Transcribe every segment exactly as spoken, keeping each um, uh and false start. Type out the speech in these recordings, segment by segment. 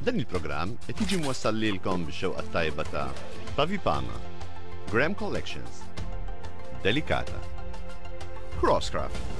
Dan il-programm qed jiġi mwassal lilkom bix-xewqa tajba ta' Pavi Pama, Graham Collections, Delicata, Crosscraft.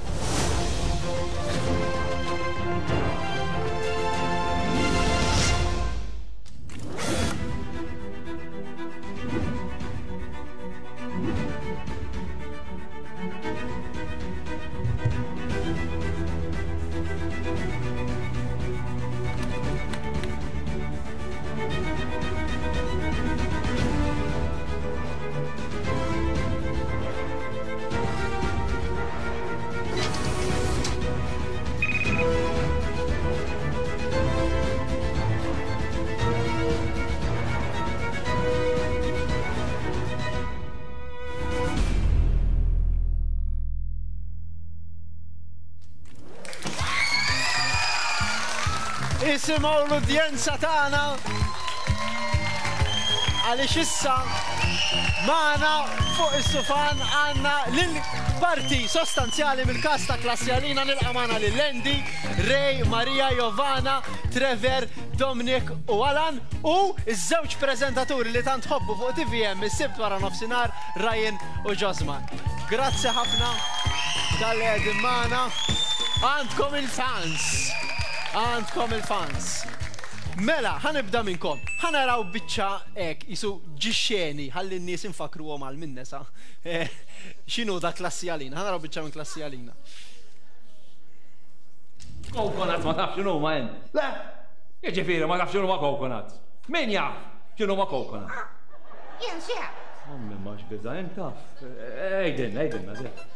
Isimgħu l-udjenza tagħna għaliex issa magħna fuq is-sufan għandna lil parti sostanzjali mill-każ ta' Klassi Għalina. Nilqa' magħna lil Andy, Ray, Maria, Jovana, Trevor, Dominic u Alan u ż-żewġ preżentaturi li tant ħobbu fuq T V M is-Sibt wara nofsinhar, Ryan u Josman. Grazzi ħafna tal-li qegħdin magħna. Għandkom il-fans. Għandkom il-fans. Mela, ħanibda minnkom. Ħanaraw biċċa hekk, jisu ġixxeni, ħalli n-nies infakruhom għal min-nesa. X'inhu da Klassi Għalina? Ħanaraw biċċa minn Klassi Għalina. Coconuts ma tafx x'inhu ma int. Le, jiġifieri ma tafx x'inhu ma coconuts. Min jaf x'inhu ma coconuts? Jien sew. Ommi ma x'biża' int taf. Ejdin, ejdin, eżatt.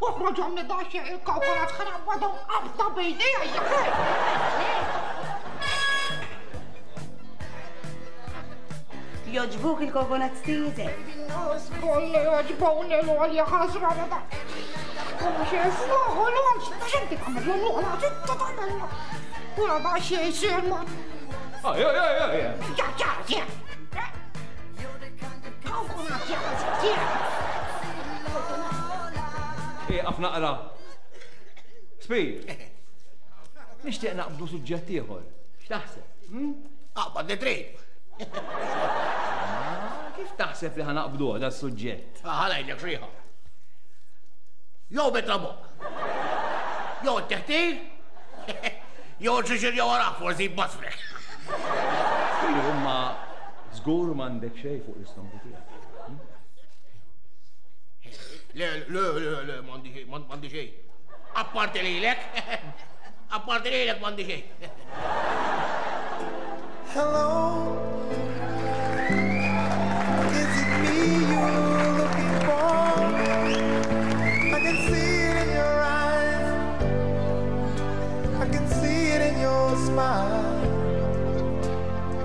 Uħroġhom li daxxi il-coconuts ħanaqbadhom qabda b'idejja. Joġbuk il-coconuts tiegħek? Kollha joġbuni l-għolja ħasra da. Oj, oj, oj, oj. Ieqaf naqra. Speed. Nixtieq naqbdu suġġett ieħor. X'taħseb? Aqbad li trid. Kif taħseb li ħanaqbduh da suġġett? Ħalajlek xriħa. Jew betrabuq. Jew t-teħtir. Jew xiexir jew wara forsi basfrek. Imma żgur m'għandek xejn fuq l-istonku tiegħek. Le, le, le, le, m'għandi m'għandi xejn. Apparti lilek. Apparti lilek m'għandi xejn. Hello. Is it me you're looking for? I can see it in your eyes. I can see it in your smile.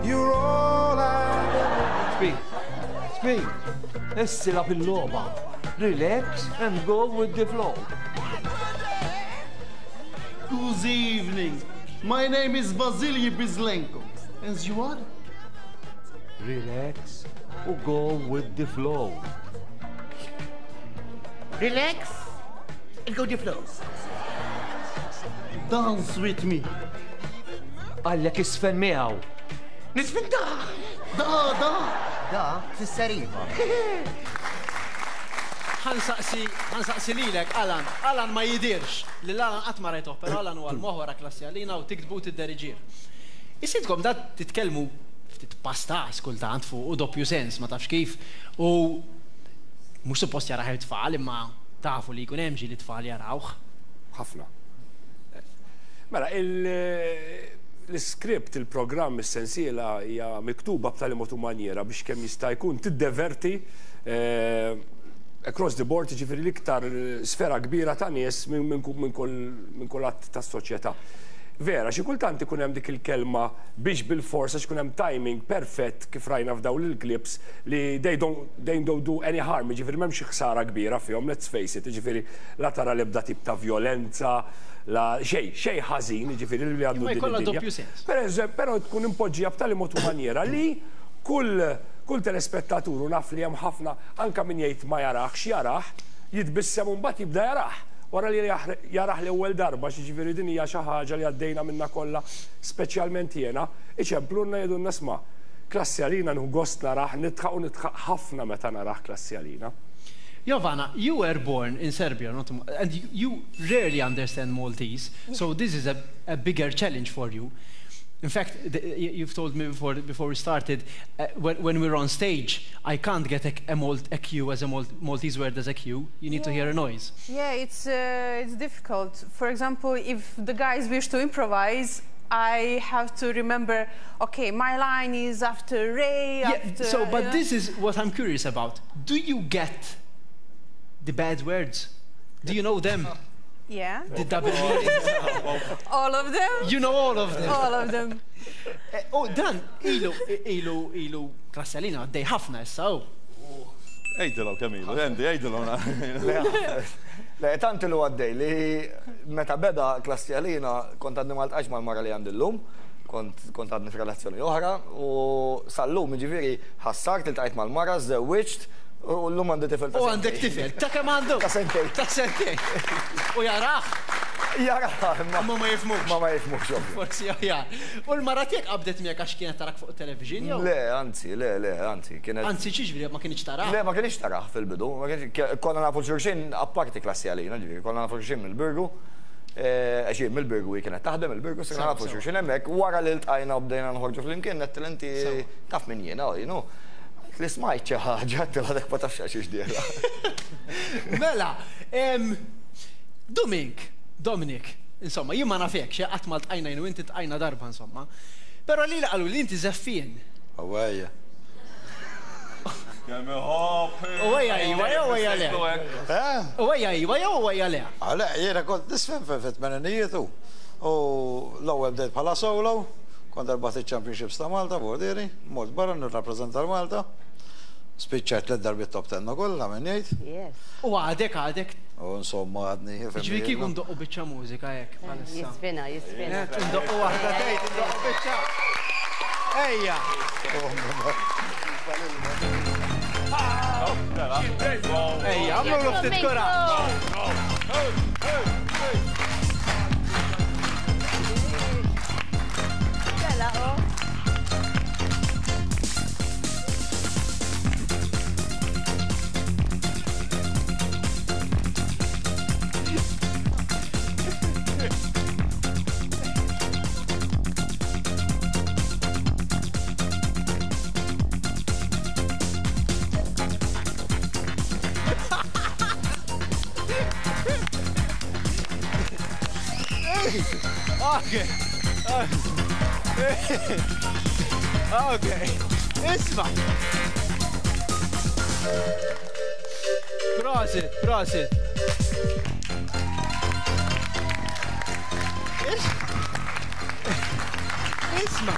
You're all I ever. Speed. Speed. Issila fil-logħba. Relax and go with the flow. Good evening. My name is Vasily Bizlenko. And you are? Relax or go with the flow. Relax and go with the flow. Dance with me. Għallek isfen miegħu. Nisfen da. Da, da. Da, fisser iva. Ħansaqsi, ħansaqsi lilek, Alan. Alan ma jidirx. Lil Alan qatt ma rajtuh, però Alan huwa l-moħħ wara Klassi Għalina u tiktbu tidderiġih. Isidkom da titkellmu ftit pastas kultant fuq u doppju sens, ma tafx kif. U mhux suppost jaraħ it-tfal, imma tafu li jkun hemm ġieli tfal jarawh. Ħafna. Mela, l-iskript, il-programm, is-sensiela hija miktuba b'tali mod u manjera biex kemm jista' jkun tiddeverti across the board, jiġifieri l-iktar sfera kbira ta' nies minn kull att tas-soċjetà. Vera, xi kultant ikun hemm dik il-kelma biex bil-forsa x'ikun hemm timing perfett kif rajna f'dawn il-clips li they don't, they don't do any harm, jiġifieri m'hemmx ħsara kbira fihom, let's face it, jiġifieri la tara l-ebda tip ta' violenza, la xejn, xejn ħażin, jiġifieri li għandu Imma din jkollha id-dinja. doppju sens. Per eżempju, però tkun impoġġija b'tali mod u maniera li kull, kull telespettatur u naf li hemm ħafna anke min jgħid ma jarax, jarah, jitbissem u mbagħad jibda jarah. Wara li jarah l-ewwel darba, jiġifieri din hija xi ħaġa li għaddejna minna kollha, speċjalment jiena, iċemplulna jgħidulna sma' Klassi Għalina nieħu gost narah, nidħaq u nidħaq ħafna meta narah Klassi Għalina. Jovana, you were born in Serbia, not, and you, you rarely understand Maltese, so this is a, a bigger challenge for you. In fact, the, you've told me before, before we started, uh, when, when we're on stage, I can't get a, a, Malt, a cue as a Malt, Maltese word as a cue. You need yeah. to hear a noise. Yeah, it's, uh, it's difficult. For example, if the guys wish to improvise, I have to remember, okay, my line is after Ray, yeah, after... So, but you know? This is what I'm curious about. Do you get the bad words? Do you know them? Yeah. The double meanings? All of them? You know all of them. All of them. Oh, dan, ilu, ilu, ilu, Klassi Għalina, għaddej ħafna issa, oh. Ejdilhom kemm ilu, Andy, ejdilhom. Le, tant ilu għaddej li meta beda Klassi Għalina kont għadni ma ltqajtx mal-mara li għandi llum, kont għadni f'relazzjoni oħra, u sal-lum jiġifieri ħassart, iltqajt mal-mara, żewwiġt, u llum għandi tifel ta' U għandek tifel, ta' kemm għandu? Ta' sentejn. Ta' sentejn. U jarah? Jarah, ma ma jifhmux. Ma ma jifhmux. Forsi aħjar. U l-mara tiegħek qabdet miegħek għax kienet tarak fuq television jew? Le, anzi, le, le, anzi, kienet. Anzi, xiġifieri ma kienx tarah? Le, ma kienx tarah fil-bidu. Konna nafu xulxin apparti Klassi Għalina, ġifieri, konna nafu xulxin mill-Birgu. Għax jien mill-Birgu hi kienet taħdem il-Birgu, sirna nafu xulxin hemmhekk. Wara li ltqajna u bdejna nħorġu flimkien, għedtilha inti taf min jiena, you know. Li smajt xi ħaġa, għedtilha dak ma tafx għax dieħla. Mela, Domink, Dominic, insomma, jien ma nafekx, qatt ma ltqajna jien u inti tqajna darba, insomma. Però li qalu li inti żeffien. Awejja. Uwejja iwa jew uwejja le? Uwejja iwa jew uwejja le? Le, jiena kont nisfen fit-tmeninijiet u l-ewwel bdejt bħala solo, kont rbaħt iċ-Championships ta' Malta, bordieri, mort barra nirrappreżenta l-Malta. Spiċċajt tliet darbiet top ten ukoll, ta' min jgħid. U għadek, għadek. U insomma għadni. Ġifieri kieku ndoqqu biċċa mużika hekk bħalissa. Jisfina, jisfina. Ndoqqu waħda tgħid, ndoqqu biċċa. Ejja. Ejja, għamlu ftit kuraġġ. Okay. Okay. Isma'. Prosit, prosit. Isma'.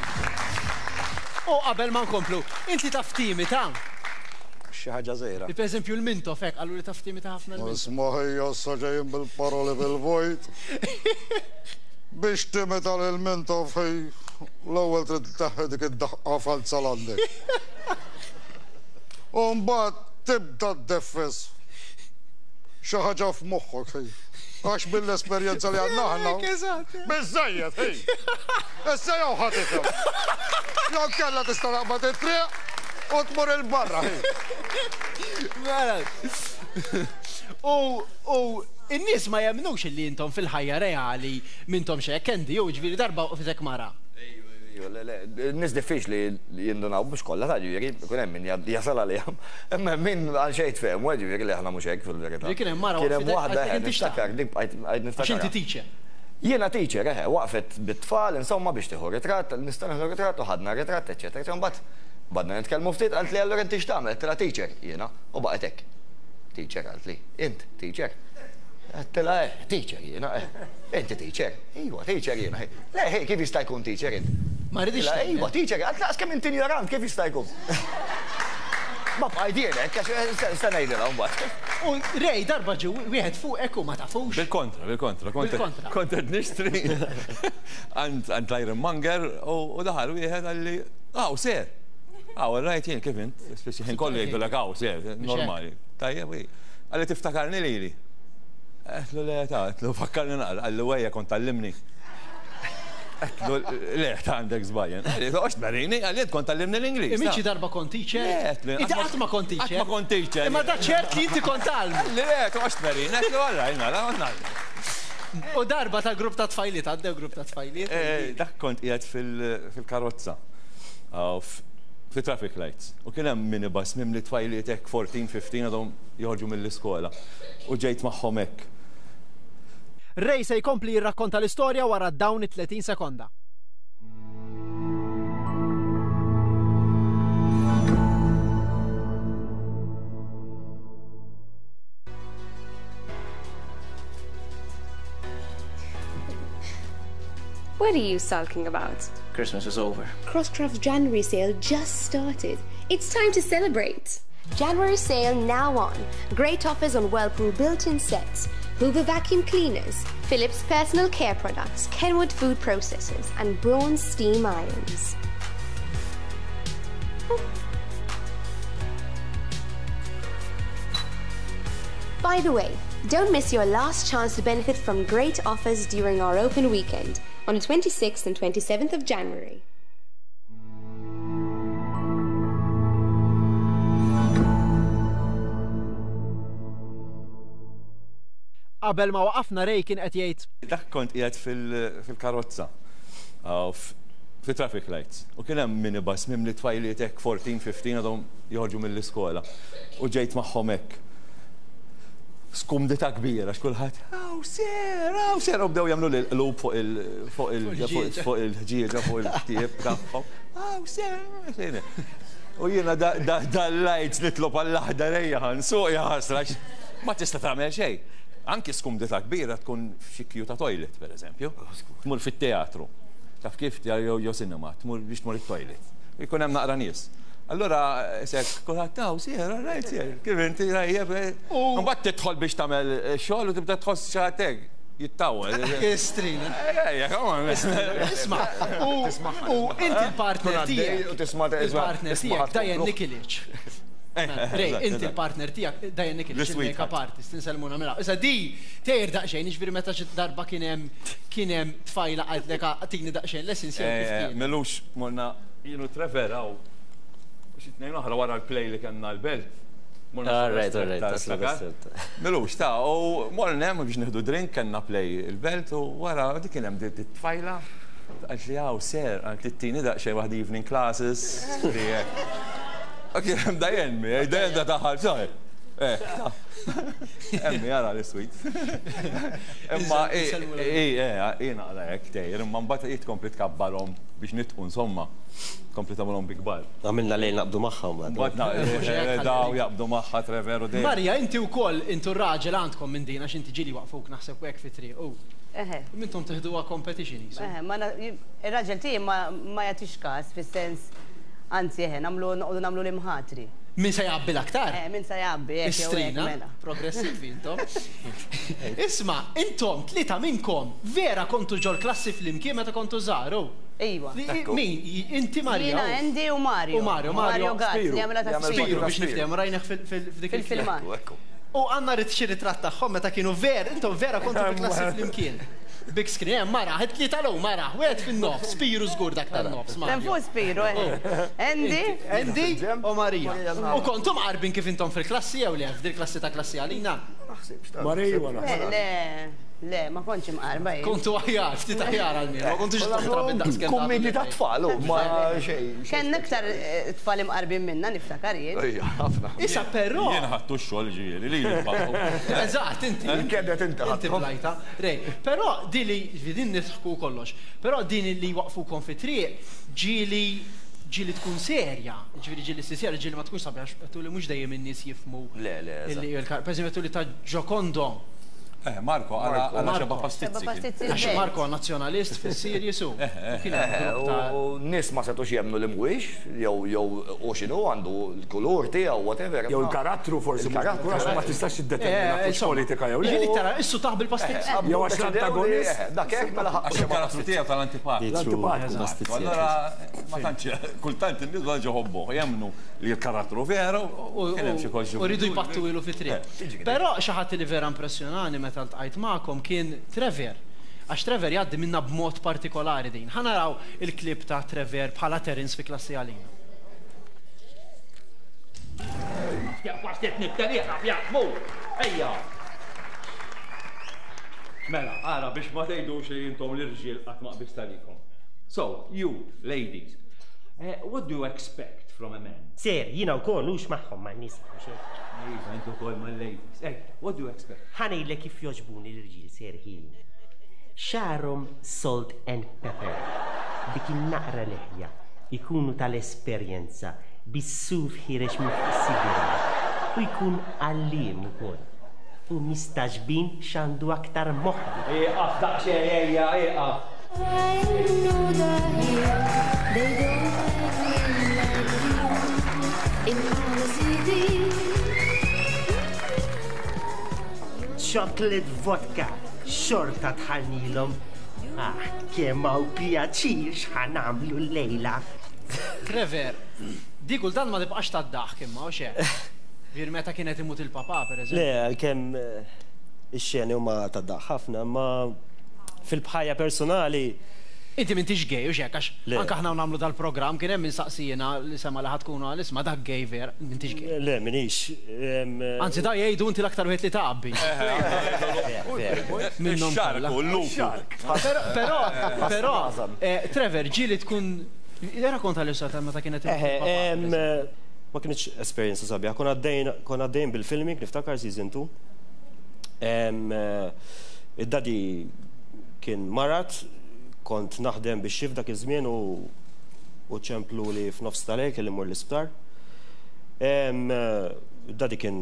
U qabel ma nkomplu, inti taf timita? Xi ħaġa żgħira. Per eżempju l-Mintoff hekk qalu li taf timita ħafna l-Mintoff. Isma' ħija issa ġejjin bil-paroli bil-vojt. Biex timita lil Mintoff ħej l-ewwel trid tneħħi dik id-daħqa falza l-għandek. U mbagħad tibda ddeffes xi ħaġa f'moħħok ħej. Għax mill-esperjenza li għandna aħna. Biżżejjed ħej. Issa jew ħa tifhem. Jew kellha tista' taqbad it-triq u tmur il-barra ħej. Mela. U u in-nies ma jemmnux illi intom fil-ħajja reali mintom xek, Andy, jew ġifieri darba waqfitek mara. Le, le, n-nies diffiċli jindunaw mhux kollha ta' ġifieri, ikun hemm min jasal għalihom. Imma min għal xejn tfehmu, ġifieri li aħna mhux hekk fil-verità. Kien hemm mara Kien hemm waħda niftakar, dik bqajt niftakar. Għax inti teacher. Jiena teacher, eħe, waqfet bit-tfal, insomma biex tieħu ritratt, nista' nieħdu ritratt u ħadna ritratt, eċetera, eċetera. Mbagħad badna nitkellmu ftit, qalt li allura inti x'tagħmel, għedtilha teacher jiena, u baqgħet hekk. Teacher qalt li, int teacher. Għedtilha eh, teacher jiena, eh. Inti teacher, iwa teacher jiena. Le, hey, kif jista' jkun teacher int? Ma rridix. Iwa teacher, għalt laqas kemm inti ignorant, kif jista' jkun? Ma bqajt jien hekk, għax se ngħidilha mbagħad. U Ray darba ġew wieħed fuqek u ma tafux. Bil-kontra, bil-kontra. Bil-kontra. Kont qed nixtri għand l-Iron Monger u daħal wieħed għalli, aw, ser. Aw, rajt jien kif int, speċi ħin kollu jgħidulek aw, ser, normali. Tajjeb, għalli tiftakarni lili. Għedtlu le ta' għedtlu fakkarni naqra, qalli wejja kont tgħallimni. Għedtlu le ta' għandek żbajjen. Qalli toqgħodx tmerini, qalli int kont tgħallimni l-Ingliż. Imma xi darba kont teacher? Le, għedtlu. Inti qatt ma kont teacher? Qatt ma kont teacher. Imma da ċert li inti kont tgħallmu. Qalli le, toqgħodx tmerini, għedtlu alla jnara, ngħallmu. U darba ta' grupp ta' tfajliet, għaddew grupp ta' tfajliet. Dak kont qiegħed fil-karozza. Fi traffic lights. U kien hemm minibus mimli tfajliet hekk fourteen, fifteen għadhom joħorġu mill-iskola. U ġejt magħhom hekk. Ray se jkompli jirrakkonta l-istorja wara dawn it-tletin sekonda. What are you sulking about? Christmas is over. Crosscraft's January sale just started. It's time to celebrate. January sale now on. Great offers on Whirlpool built-in sets, Hoover vacuum cleaners, Philips personal care products, Kenwood food processors, and Braun steam irons. By the way, don't miss your last chance to benefit from great offers during our open weekend on the twenty-sixth and twenty-seventh of January. Qabel ma waqafna Ray kien qed jgħid. Dak kont qiegħed fil-karozza fi traffic lights. U kien hemm minibus mimli tfajliet hekk fourteen, fifteen għadhom joħorġu mill-iskola. U ġejt magħhom hekk. Skumdità kbira għax kulħadd hawn ser, hawn ser u bdew jagħmlu l-qlub fuq il fuq il fuq il-ħġieġa fuq il-ktieb tagħhom. Hawn ser, xejn. U jiena dal-lights nitlob għall-aħdar ejja ħansuq ja ħasra ma tista' tagħmel xejn. Anki skumdità kbira tkun f'xi kju ta' toilet, pereżempju. Tmur fit-teatru. Taf kif jew cinema, tmur biex tmur it-toilet. Jkun hemm naqra nies. Allora, sek, kulħadd taw, sir, rajt, sir, kif inti rajjeb. Mbagħad tidħol biex tagħmel xogħol u tibda tħoss xi ħadd hekk jittawel. Istrina. Ejja, come on. Isma', u inti l-partner tiegħek. Il-partner tiegħek Diane Nikolic. Ray, inti l-partner tiegħek Diane Nikolic, il-makeup artist, inselmuna mela. Issa di tgħir daqsxejn, jiġifieri meta xi darba kien hemm kien hemm tfajla qaltlek tini daqsxejn lessons jew kif kien. Melux morna jienu Trevor hawn. Xi tnejn oħra wara l-play li kellna l-belt. Alright, alright. Melux ta' u morna hemm biex nieħdu drink kellna play il-belt u wara dik kien hemm dit-tfajla qalt li hawn ser, qalt li tini daqsxejn waħda evening classes. U kien hemm Diane, Diane da taħal xahar. Eh, emmi għara l-sweet. Imma i naqra hekk tgħir, imma mbagħad hi tkompli tkabbarhom biex nitqu insomma. Kompli tagħmilhom bi kbar. Għamilna lejl naqbdu magħha mbagħad. Daw jaqbdu magħha Trevor u dejjem. Marja, inti wkoll intu r-raġel għandkom minn din għax inti ġieli waqfuk naħseb hekk fit-triq. Eħe. Mintom teħduha competition qisu. Eħe, ma ir-raġel tiegħi ma jagħtix każ fis-sens anzi eħe, nagħmlu noqogħdu nagħmlu l-imħatri. Min se jgħabbi l-aktar? Eh, min se jgħabbi, hekk jew hekk mela. Progressivi intom. Isma', intom tlieta minnkom vera kontu ġol klassi flimkien meta kontu żgħar. Iva. Min? Inti Maria? Jiena Andy u Mario. U Mario, Mario Gazz li għamela ta' Spiru biex niftehmu rajnih f'dik il-filmat. U għandna rid xi ritratt tagħhom meta kienu ver, intom vera kontu fil-klassi flimkien. Big screen, hemm mara, tlieta l mara, wieħed fin-nofs, Spiru żgur dak tan-nofs. Hemm fuq Spiru, Andy. Andy u Maria. U kontum qarbin kif intom fil-klassi jew le, f'dil klassi ta' klassi għalina? Marija naħseb. Le, le, ma kontx imqarba jien. Kontu aħjar, ftit aħjar għal-mien, ma kontux trabi daqs kemm. Kummenti ta' tfal, ma xejn. Kenna aktar tfal imqarbin minna niftakar jien. Ejja, ħafna. Issa però. Jien ħadtu x-xogħol ġieli li Eżatt, inti. Kedet inti Inti blajta. Rej, però din li din nidħku kollox, però din li waqfukom fi triq ġieli ġieli tkun serja, ġieli ġieli serja, ġieli ma tkunx sabiħ, għax li mhux dejjem in-nies jifhmu. Le, le. Per eżempju li ta' Giocondo. Eh, Marco, għala xeba pastizzi. Għax Marco nazzjonalist fis-Sirji su. U nies ma setux jemnu li mhuwiex, jew jew u x'inhu għandu l-kulur tiegħu whatever. Jew il-karattru forsi, il-karattru ma tistax tiddetermina fuq politika jew le. Ġieli tara issu taħ bil-pastizzi. Jew għax l-antagonist. Dak hekk mela ħaqqu. Għax il-karattru tiegħu tal-antipatiku. L-antipatiku. Allora ma tantx kultant in-nies ma ġoħobbu jemmnu li l-karattru veru u kien hemm xi U rridu jbattu ilu fit-triq. Però xi ħadd li vera impressjonani meta ltqajt magħkom kien Trevor. Għax Trevor jgħaddi minna b'mod partikolari din. Ħa naraw il-klip ta' Trevor bħala Terence fi Klassi Għalina. Ejja! Mela, ara biex ma tgħidux li intom l-irġiel qatt ma qbist għalikom. So, you, ladies, eh, what do you expect from a man? Sir, jiena wkoll hux magħhom man-nisa. Iva, intu wkoll mal-ladies. Ej, what do you expect? Ħa ngħidlek kif jogħġbuni l-irġiel, Sir ħin. Xagħarhom salt and pepper, dik in-naqra leħja, ikunu tal-esperjenza, bis-suf ħireġ minn fuq is-sidirha, u jkun għalliem ukoll. U mistaġbin x'għandu aktar moħħi. Ieqaf daqsxejn ejja, ieqaf. Chocolate vodka, xorta tħallnilhom. Ah, kemm hawn pjaċir x'ħa nagħmlu llejla. Trevor, di kultant ma tibqax tad-daħk imma, u xejn. Vir meta kienet imut il-papa, per eżempju. Le, għalkemm ix-xeni huma tad-daħk ħafna, ma fil-bħajja personali. Inti m'intix gay, u xek, għax anke aħna nagħmlu dal-programm kien hemm minsaqsijina li sema li ħad tkunu għal isma' dak gay ver, m'intix gay. Le, minix. Anzi, da jgħidu inti l-aktar wieħed li taqabbi. Minnhom Ix-xark u l-lupu. Però, però, Trevor, ġieli tkun. Rakkonta li sa meta kienet imut il-papa. Ma kienx esperjenza sabiħa. Kon għaddejn bil-filming, niftakar season two. Id-daddy kien marat, kont naħdem biex xif dak iż-żmien u ċemplu li f'nofs tal-lejl kelli mmur l-isptar. Id-daddy kien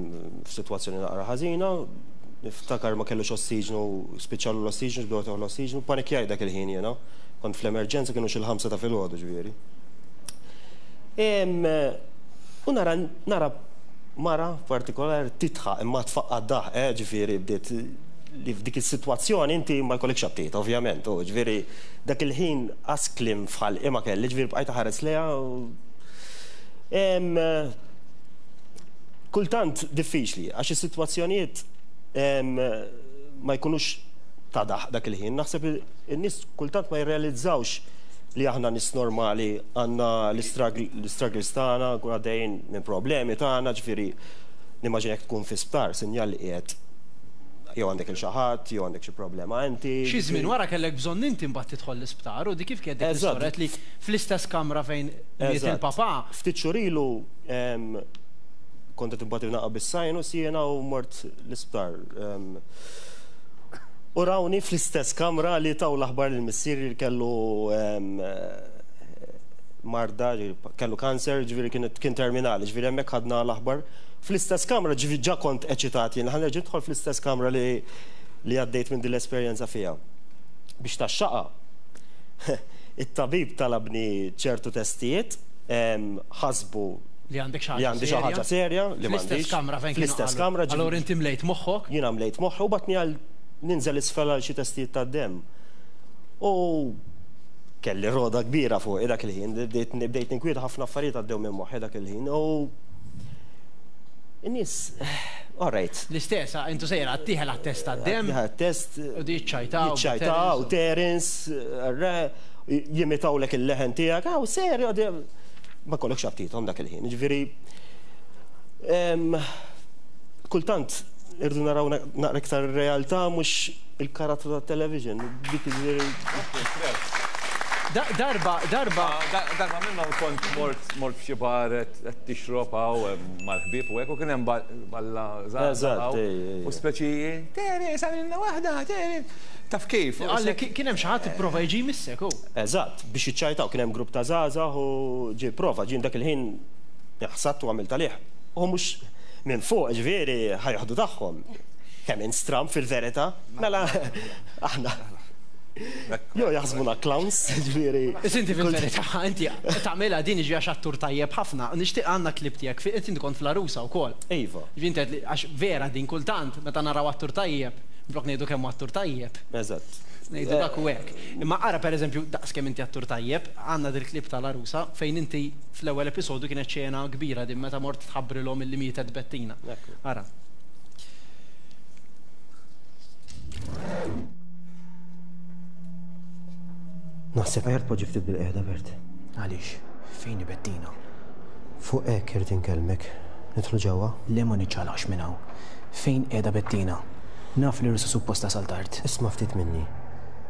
f'sitwazzjoni naqra ħażina, niftakar ma kellux ossiġnu, spiċċalu l-ossiġnu, bdew taħu l-ossiġnu, panikjaj dak il-ħin jiena. Kont fl-emerġenza kienu xi l-ħamsa ta' filgħodu ġifieri. U nara nara mara partikolari titħaq imma tfaqqa' daħ, eh, ġifieri bdiet li f'dik is-sitwazzjoni inti ma jkollekx aptit, ovvjament, u ġifieri dak il-ħin qas kliem f'ħalqi ma kelli, ġifieri bqajt ħares lejha. Kultant diffiċli għax is-sitwazzjonijiet ma jkunux ta' daħ dak il-ħin. Naħseb in-nies kultant ma jirrealizzawx li aħna nies normali, għandna l-struggles tagħna, nkun għaddejjin minn problemi tagħna, ġifieri nimmaġina jekk tkun fi sptar, sinjal li qiegħed jew għandek il xi ħadd, jew għandek xi problema inti. Xi żmien wara kellek bżonn inti mbagħad tidħol l-isptar u di kif kienet dik l-istorja li fl-istess kamra fejn miet il-papà. Ftit xhur ilu kont qed imbagħad naqa' bis-sinus jiena u mort l-isptar. U rawni fl-istess kamra li taw l-aħbar lil missieri li kellu marda, kellu kanser, ġifieri kien terminali, ġifieri hemmhekk ħadna l-aħbar. Fl-istess kamra, ġifieri ġa kont eċitat jien, ħa nerġa' nidħol fl-istess kamra li li għaddejt minn din l-esperjenza fiha. Biex tax-xaqa, it-tabib talabni ċertu testijiet, ħasbu li għandek xi ħaġa serja, li m'għandix. Fl-istess kamra fejn kienu. Fl-istess kamra. Allura inti mlejt moħħok? Jiena mlejt moħħi u batni għal ninżel isfel għal xi testijiet tad-demm. U kelli roda kbira fuq dak il-ħin, bdejt ninkwieta ħafna affarijiet għaddew minn moħħi dak il-ħin. U in-nies, all right. L-istess, intu sejra għattieħel għat-test tad-demm. Għat-test. U di jiċċajtaw. Jiċċajtaw, Terence, jimitawlek il-leħen tiegħek, aw serju, ma kollokx aptithom dak il-ħin. Ġifieri, kultant irdu naraw naqra iktar realtà mhux il-karattru tat-television. Dik ġifieri. Darba, darba. Darba minnhom kont mort mort f'xi bar qed tixrob hawn mal-ħbieb u hekk u kien hemm balla żgħar. U speċi Terence għamilna waħda, Terence. Taf kif? Għalli kien hemm xi ħadd ipprova jiġi jmissek hu. Eżatt, biex jiċċajtaw kien hemm grupp ta' żgħażagħ u ġie prova ġien dak il-ħin ħsabt u għamilt għalih. U mhux minn fuq ġifieri ħajħdu tagħhom. Kemm instram fil-verità, mela aħna. Jo jaħsbuna clowns, ġifieri. Inti fil-verità, inti tagħmilha din ġi għax attur tajjeb ħafna. Nixtieq għandna klip tiegħek, inti kont fl-Arusa wkoll. Iva. Ġifieri għax vera din kultant meta naraw attur tajjeb, blok ngħidu kemm attur tajjeb. Eżatt. Ngħidu dak u hekk. Imma ara pereżempju daqs kemm inti attur tajjeb, għandna dil-klip tal-Arusa fejn inti fl-ewwel episodju kienet xena kbira din meta mort tħabbrilhom illi mietet Bettina. Ara. Naħseb aħjar tpoġġi ftit bil-qiegħda, Bert. Għaliex? Fejn hi Bettina? Fuq hekk irid inkellmek. Nidħlu ġewwa? Le ma niċċaqlaqx minn hawn. Fejn qiegħda Bettina? Naf li rsu suppost tasal tard. Isma' ftit minni.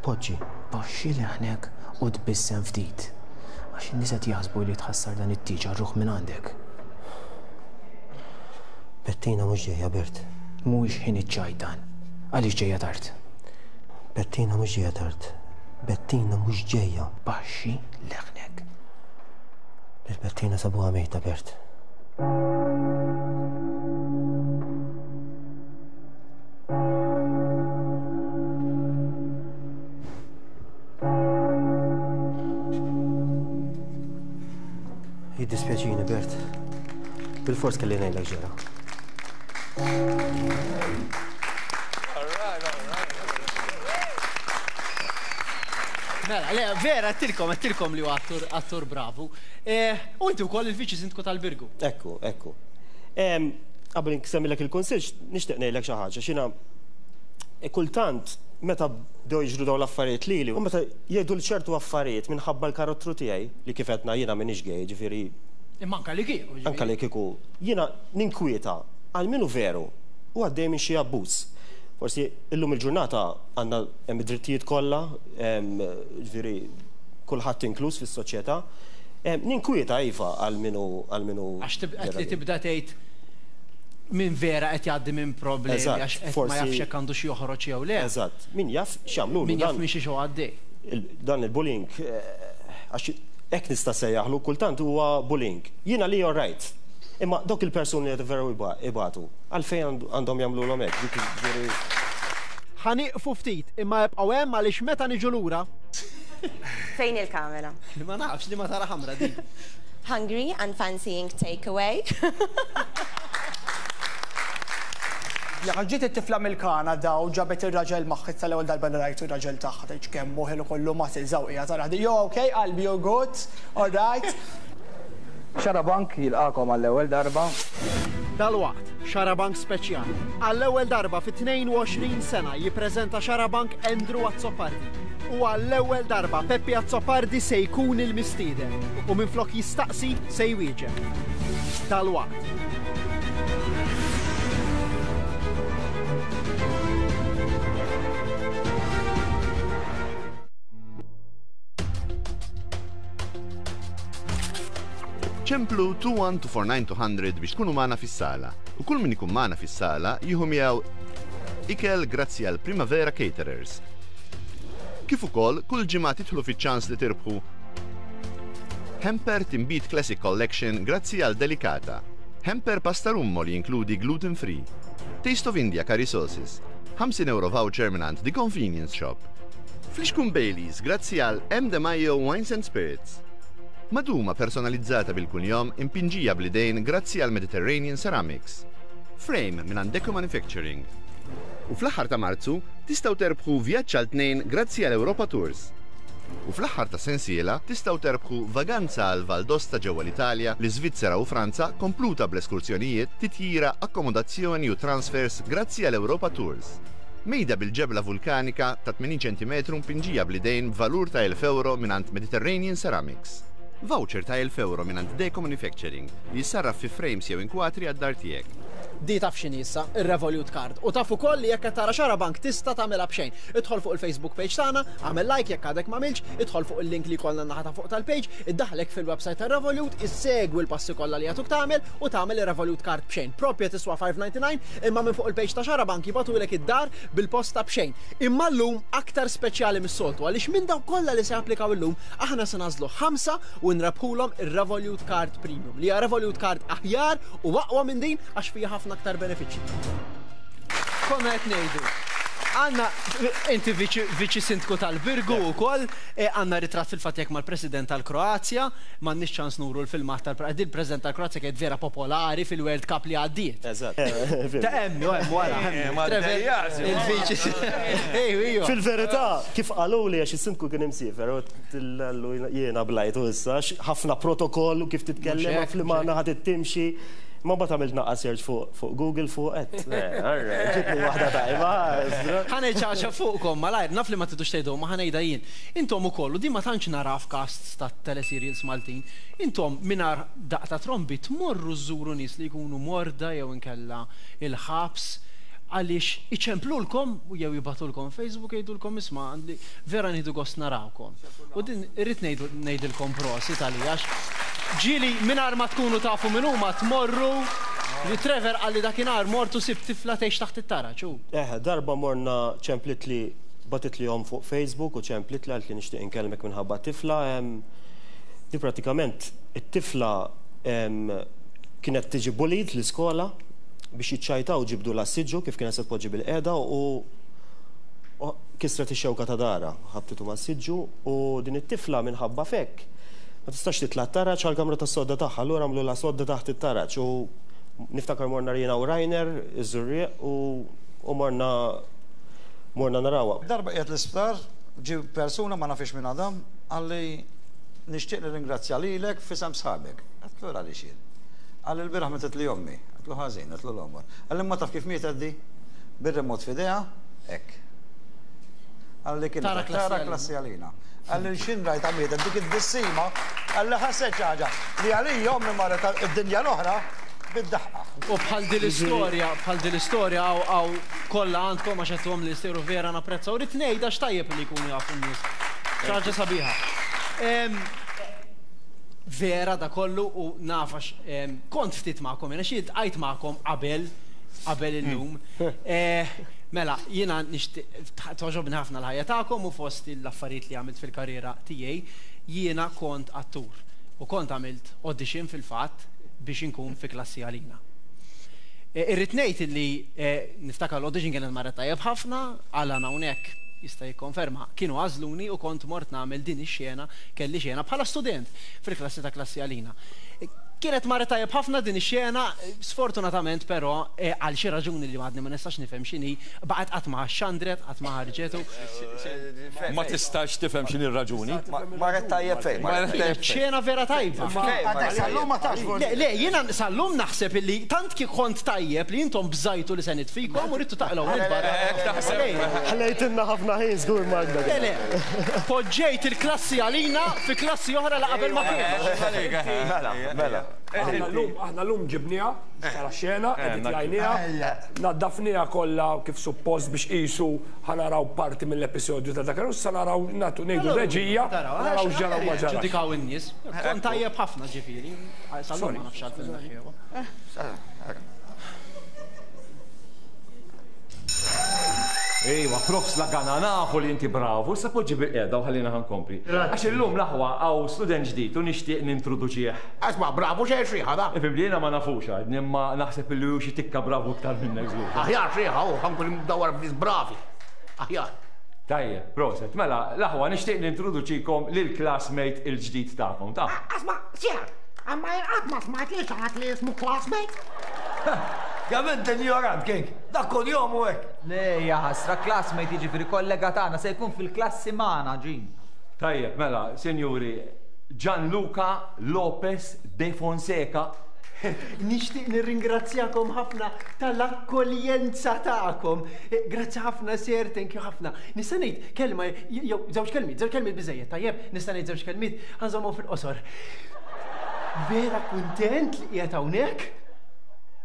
Poġġi. Baxxi leħnek u tbissem ftit. Għax in-nies qed jaħsbu li tħassar dan it-tieġ għar-ruħ minn għandek. Bettina mhux ġejja, Bert. Mhuwiex ħin iċ-ċajt dan. Għaliex ġejja tard? Bettina mhux ġejja tard. Bettina mhux ġejja. Baxxi leħnek. Lil Bettina sabuha mejta, Bert. Jiddispjaċini, Bert. Bil-fors kelli ngħidlek ġara. Mela, le, vera, għattilkom, għattilkom li hu attur, attur bravu. U inti wkoll il-viċi sindku tal-Birgu. Ekku, ekku. Qabel nsemmilek il-kunsill, nixtieq ngħidlek xi ħaġa, x'jiena kultant meta bdew jiġru dawn l-affarijiet lili, u meta jgħidu l ċertu affarijiet minħabba l-karattru tiegħi, li kif għedna jiena m'iniex gay, ġifieri. Imma anke li kieku. Anke li kieku. Jiena ninkwieta għal min hu veru u għaddej minn xi abbuż. Forsi illum il-ġurnata għandna hemm id-drittijiet kollha, ġifieri kulħadd inkluż fis-soċjetà. Ninkwieta iva għal min hu għal min hu. Għax qed li tibda tgħid min vera qed jgħaddi minn problemi għax qed ma jafx jekk għandu xi joħroġ jew le. Eżatt, min jaf x'jagħmlu. Min jaf minn xi xi għaddej. Dan il-bullying għax hekk nista' sejjaħlu kultant huwa bullying. Jiena li all right. Imma dawk il-persuni li veru ibatu, għalfejn għandhom jagħmluhom hekk, dik ġifieri. Ħa nieqfu ftit, imma ebqgħu hemm għaliex meta niġu lura. Fejn il-kamera? Ma nafx li ma tara ħamra din. Hungry and fancying takeaway. Jekk ġiet it-tifla mill-Kanada u ġabet ir-raġel magħha tal-ewwel darba li rajtu r-raġel tagħha tgħidx kemm hu ħelu kollu ma żawqija tara Jo, okay, qalbi, you good, all right. Xarabank jilqakom għall-ewwel darba. Dalwaqt, Xarabank speċjali. Għall-ewwel darba fi tnejn u għoxrin sena jippreżenta Xarabank Andrew Azzopardi. U għall-ewwel darba Peppi Azzopardi se jkun il-mistieden u minflok jistaqsi se jwieġeb. Dalwaqt. Ċemplu two one two four nine two hundred biex tkunu magħna fis-sala. U kull min ikun magħna fis-sala jieħu miegħu ikel grazzi għal Primavera Caterers. Kif ukoll kull ġimgħa tidħlu fiċ-ċans li tirbħu Hamper Timbit Classic Collection grazzi għal Delicata. Hamper Pasta Rummo li jinkludi gluten free. Taste of India curry sauces. ħamsin euro voucher mingħand The Convenience Shop. Flixkun Baileys grazzi għal M. De Maio Wines and Spirits. Maduma personalizzata bil-kunjom impinġija bl-idejn grazzi għal Mediterranean Ceramics. Frame minn Deco Manufacturing. U fl-aħħar ta' Marzu tistgħu terbħu vjaġġ għal tnejn grazzi għal Europa Tours. U fl-aħħar ta' sensiela tistgħu terbħu vaganza għal Valdosta ġewwa l-Italja, l-Iżvizzera u Franza kompluta bl-eskursjonijiet, titjira, akkomodazzjoni u transfers grazzi għal Europa Tours. Mejda bil-ġebla vulkanika ta' tmenin ċentimetru mpinġija bl-idejn b'valur ta' elf euro mingħand Mediterranean Ceramics. Voucher ta' elf euro mingħand Deco Manufacturing li jissarraf fi frames jew inkwatri għad-dar tiegħek. Di taf x'inhi issa, ir-Revolut Card. U taf ukoll li jekk qed tara Xarabank tista' tagħmilha b'xejn. Idħol fuq il-Facebook page tagħna, agħmel like jekk għadek m'għamilx, idħol fuq il-link li jkollna naħa ta' fuq tal-page, iddaħlek fil-website tar-Revolut, issegwi l-passi kollha li jagħtuk tagħmel u tagħmel ir-Revolut Card b'xejn. Propja tiswa five ninety-nine, imma minn fuq il-page ta' Xarabank jibgħatulek id-dar bil-posta b'xejn. Imma llum aktar speċjali mis-soltu għaliex minn dawk kollha li se japplikaw illum aħna se nagħżlu ħamsa u nrebħulhom ir-Revolut Card Premium li hija Revolut Card aħjar u aqwa minn din għax fiha ħafna aktar benefiċċji. Konna qed ngħidu. Għanna, inti viċi sindku tal-Birgu wkoll, għandna ritratt fil-fatt jekk mal-President tal-Kroazja, m'għandniex ċans nuru l-filmat tal-President, il-President tal-Kroazja kienet vera popolari fil-World Cup li għaddiet. Eżatt. Ta' hemm, hemm wara. Il-viċi. Fil-verità, kif qaluli għax is-sindku kien imsiefer, u jiena blajtu issa, ħafna protokoll u kif titkellem, fl-imgħana ħadd timxi. Ma mbagħad għamilt naqra search fuq Google fuq qed. Ġibni waħda tajba. Ħa ngħid xi ħaġa fuqkom malajr, naf li ma tridux tgħidu ma ħa ngħidha jien. Intom ukoll, u din ma tantx nara f'casts ta' teleserials Maltin, intom mingħajr daqq ta' trombi tmorru żżuru nies li jkunu morda jew inkella il-ħabs għaliex iċemplulkom jew jibagħtulkom Facebook jgħidulkom isma' vera nieħdu gost narawkom. U din irrid ngħidilkom prosit għalija għax ġieli mingħajr ma tkunu tafu min huma tmorru li Trevor qalli dakinhar mortu sib tifla tgħix taħt it-taraġ. Eh, darba morna ċemplit li bagħtit li fuq Facebook u ċemplit li għalt li nixtieq inkellmek minħabba tifla. Di pratikament it-tifla kienet tiġi bullied l-iskola biex jiċċajtaw ġibdu la siġġu kif kienet se tpoġġi bil-qeda u kisret ix-xewka ta' dara, ħabtitu ma' siġġu u din it-tifla minħabba fekk ma tistax titla' t-taraġ għall-kamra tas-sodda tagħha, allura għamlu la sodda taħt it-taraġ u niftakar morna jiena u Rainer, iż-Żurrieq u morna morna narawha. Darba qiegħed l-isptar, ġie persuna ma nafix minn Adam, qalli nixtieq nirringrazzja lilek f'isem sħabek. Għedtlu għaliex jien. Qalli l-bieraħ mietet li ommi. Għedtlu ħażin, għedtlu l-għomor. Qalli ma taf kif mietet di? Bir-remot f'idejha, hekk. Qalli kienet tara Klassi Għalina. Qalli x'ħin rajtha mietet dik id-dissima, qalli ħasset xi ħaġa li għalija ommi marret id-dinja l-oħra bid-daħqa. U bħal din l-istorja, bħal din l-istorja hawn kollha għandkom għax għedtuhom li jsiru vera napprezza u rrid ngħid għax tajjeb li jkunu jafu n-nies. Xi ħaġa sabiħa. Vera da kollu u naf għax kont ftit magħkom, jiena xi ltqajt magħkom qabel qabel illum. Mela, jiena nixtieq togħġobni ħafna l-ħajja tagħkom u fost l-affarijiet li għamilt fil-karriera tiegħi, jiena kont attur u kont għamilt audition fil-fatt biex inkun fi Klassi Għalina. Irrid ngħid illi niftakar l-audition kienet marret tajjeb ħafna, Alan hawnhekk jista' jikkonferma, kienu għażluni u kont mort nagħmel din ix-xena, kelli xena bħala student fil-klassi ta' Klassi Għalina. Kienet marret tajjeb ħafna din ix-xena, sfortunatament però għal xi raġuni li għadni ma nistax nifhem x'inhi, baqgħet qatt ma xandret, qatt ma ħarġetu. Ma tistax tifhem x'inhi r-raġuni. Marret tajjeb fejn? Kienet xena vera tajba. Sal-lum ma tafx. Le, le, jiena sal-lum naħseb illi tant kif kont tajjeb li intom bżajtu li se nitfikom u ridtu taqilgħu minn barra. Ħlejtilna ħafna ħin żgur Magda. Le, le, poġġejt il-Klassi Għalina fi klassi oħra la qabel ma kien. Mela, mela. Aħna l-lum ġibniha, tara xena, editjajniha, naddafniha kollha kif suppost biex qisu ħa naraw parti mill-episodju ta' dak, sa naraw nagħtu ngħidu reġija, naraw x'ġara u ma ġara. Ġudikaw in-nies. Kont tajjeb ħafna ġifieri. Sal-lum ma nafx għalfejn neħħewha. Ejwa, profs Lagana, nafu li inti bravu, issa poġġi bil-qiegħda u ħallina ħankompli. Għax illum l-aħwa hawn student ġdid u nixtieq nintroduċih. Asma, bravu xejn xriħa da. Ifhem li jiena ma nafux għadni, imma naħseb li hu xi tikka bravu iktar minnek żgur. Aħjar xriħa u ħankun imdawwar b'nies bravi. Aħjar. Tajjeb, proset, mela l-aħwa nixtieq nintroduċikom lil classmate il-ġdid tagħkom, ta'. Asma, sir, imma jien qatt ma smajt li xi ħadd li jismu classmate. Kemm int injorant, King! Dak kuljum u hekk! Le, ja ħasra, classmate jiġifieri kollega tagħna se jkun fil-klassi magħna, Ġin. Tajjeb, mela, sinjuri, Gianluca Lopez de Fonseca. Nixtieq nirringrazzjakom ħafna tal-akkoljenza tagħkom. Grazzi ħafna, sir, thank you ħafna. Nista' ngħid kelma jew żewġ kelmiet, żewġ kelmiet biżejjed, tajjeb, nista' ngħid żewġ kelmiet, ħa nżommhom fil-qosor. Vera kuntent li qiegħed hawnhekk.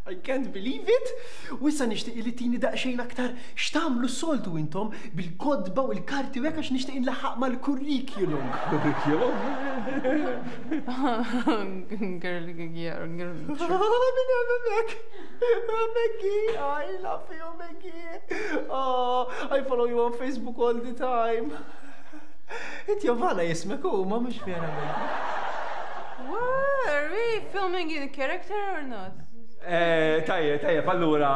I can't believe it! U issa nixtieq li tini daqsxejn aktar x'tagħmlu s-soltu intom bil-kotba u l-karti u hekk għax nixtieq inlaħħaq mal-curriculum. Curriculum? Girl, yeah, girl. Maggie, I love you, Maggie. Oh, I follow you on Facebook all the time. Inti Jovana jismek u ma mhux vera Maggie. What? Are we filming in character or not? Tajjeb, tajjeb, allura,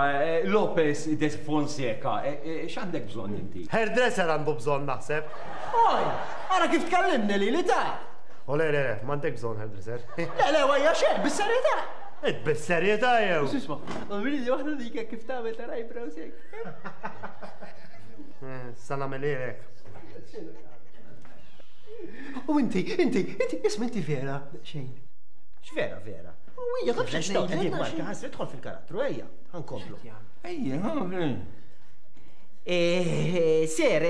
Lopez de Fonseca, x'għandek bżonn inti? Hairdresser għandu bżonn naħseb. Oj, ara kif tkellimni li li ta'. O le, le, le, m'għandek bżonn hairdresser. Le, le, għajja xejn, bis-serjetà. Id bis-serjetà jew. Isma', għamilli waħda dik kif tagħmel tal-eyebrows hekk. Sa nagħmel. U inti, inti, inti, isma' inti vera, xejn. X'vera vera? Ija, taf x'qed ngħidlek, Marka, ħasri idħol fil-karattru, ejja, ħankomplu. Ejja, Ser,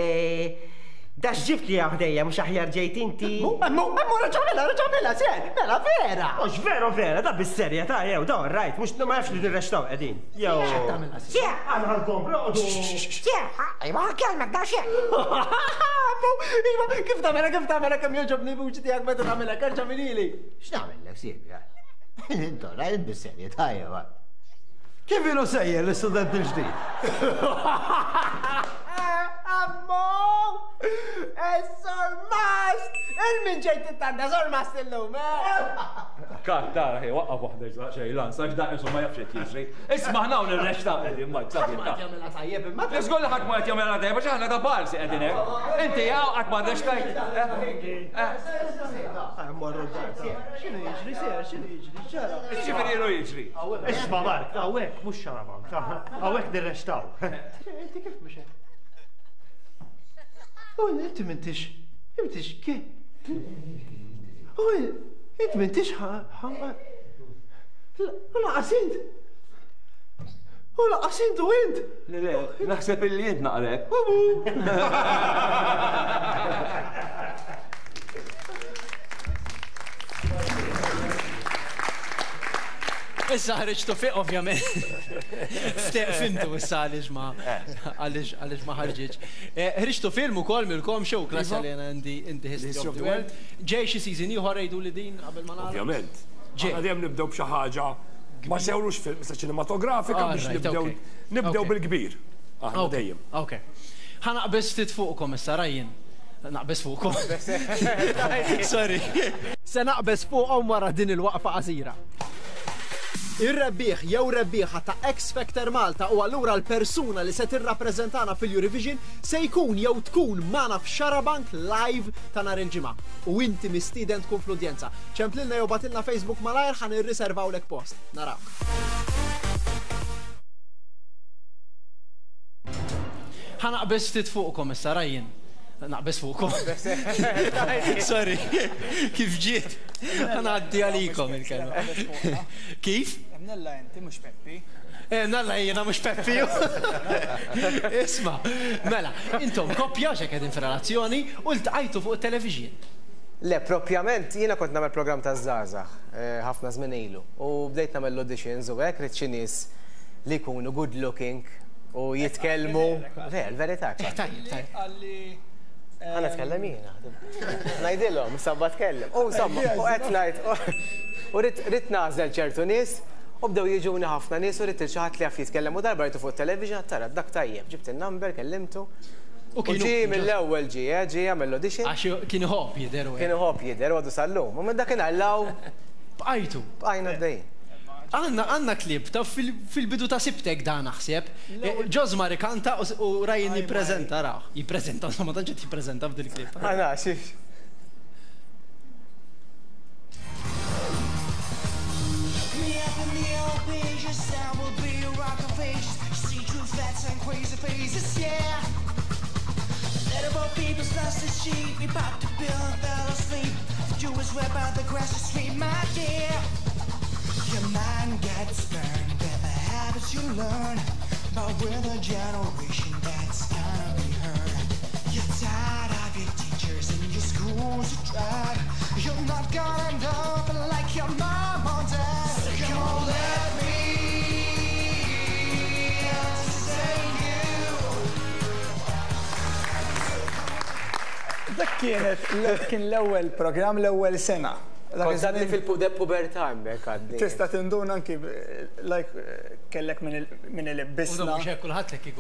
da x'ġibt li ħdejja mhux aħjar ġejt inti. Emmu, emmu, raġa' mela, raġa' mela, ser, mela vera. Mhux vero vera, da bis-serjetà jew, da rajt, mhux ma jafx li nirrextaw qegħdin. Jew. Ser, Għana ħankomplu. Ser, ma ħakkelmek da xejn. Iva, kif tagħmilha, kif tagħmilha kemm jogħġobni vuċi tiegħek meta tagħmilha, kerġa' minili. X'nagħmellek, Silvia? Intu rajt bis-serjetà jew. Kif ilu sejjer l-istudent il-ġdid? Ammo! Is-sormast! Il-min ġejt tittanna sormast illum, eh? Kat, tara, ħej, waqqaf waħda xejn, lan, sax da insomma ma jafx qed jiġri. Isma' ħna hawn ir-rexta qegħdin ma Ħadd ma qed jagħmilha tajjeb imma. Żgur li ħadd ma qed jagħmilha tajjeb għax aħna ta' barsi qegħdin hekk. Inti hawn qatt ma rrextajt. X'inhu jiġri, ser, x'inhu jiġri, ġara. Ġifieri ilu jiġri. Isma' Mark, hawnhekk mhux xarabank, hawnhekk nirrextaw. Inti kif mhux hekk? U inti m'intix, m'intix kif? U inti m'intix ħa. Laqas int. U laqas int u int. Le, le, naħseb illi int naqrek. Issa ħriġtu fiq, ovvjament. Fimtu issa għaliex ma għaliex għaliex ma ħarġitx. Ħriġtu film ukoll milkom show klassi li għana in the History of the World. Ġej xi season ieħor jgħidu li din qabel ma nagħlaq. Ovvjament. Aħna dejjem nibdew b'xi ħaġa ma sewrux film sa ċinematografika biex nibdew nibdew bil-kbir. Aħna dejjem. Ok. Ħa naqbeż ftit fuqkom issa Ryan. Naqbeż fuqkom. Sorry. Se naqbeż fuqhom wara din il-waqfa qasira. Ir-rebbieħ jew rebbieħa ta' X Factor Malta u allura l-persuna li se tirrappreżentana fil-Eurovision se jkun jew tkun magħna f'Xarabank live ta' nhar il-ġimgħa. U inti mistieden tkun fl-udjenza. Ċemplilna jew batilna Facebook malajr ħa nirriservawlek post. Narawk. Ħa naqbeż ftit fuqkom issa Ryan. Naqbeż fuqkom. Sorry, kif ġiet? Ħa ngħaddi għalikom il-kelma. Kif? Nella inti mhux Peppi. Nella jiena mhux Peppi. Isma', mela, intom koppja x'hekk qegħdin f'relazzjoni u ltqajtu fuq it-television. Le, propjament jiena kont nagħmel programm ta' żgħażagħ ħafna żmien ilu u bdejt nagħmel l-auditions u hekk rid xi nies li jkunu good looking u jitkellmu. Ver, verità. Tajjeb, tajjeb. Għana tkellem jiena. Ngħidilhom, sabba tkellem. U insomma, u qed ngħid u rrid nagħżel ċertu nies u bdew jiġuni ħafna nies u rrid il xi ħadd li jaf jitkellem u darba rajtu fuq television tara dak tajjeb, ġibt in-number, kellimtu. U ġie mill-ewwel ġie, ġie għamel l-audition. Għax kien iħobb jidher u. Kien iħobb jidher u għadu sal-lum. U minn dakinhar law. Bqajtu. Bqajna għaddejjin. Għanna għanna klib ta' fil-bidu ta' sibtek da naħseb. Ġożmar ikanta u Ryan jippreżenta raw. Jippreżenta, insomma tantx qed jippreżenta f'dil klib. Għana, xiex. Your mind gets burned with the habits you learn, but we're the generation that's gonna be heard. You're tired of your teachers and your schools you tried. You're not gonna end up like your mom or dad. So come on, let me entertain you. Dak kienet kien l-ewwel programm l-ewwel sena. Kont għadni fil-pubertà hemmhekk għadni. Tista' tinduna anki like kellek minn il-bisna.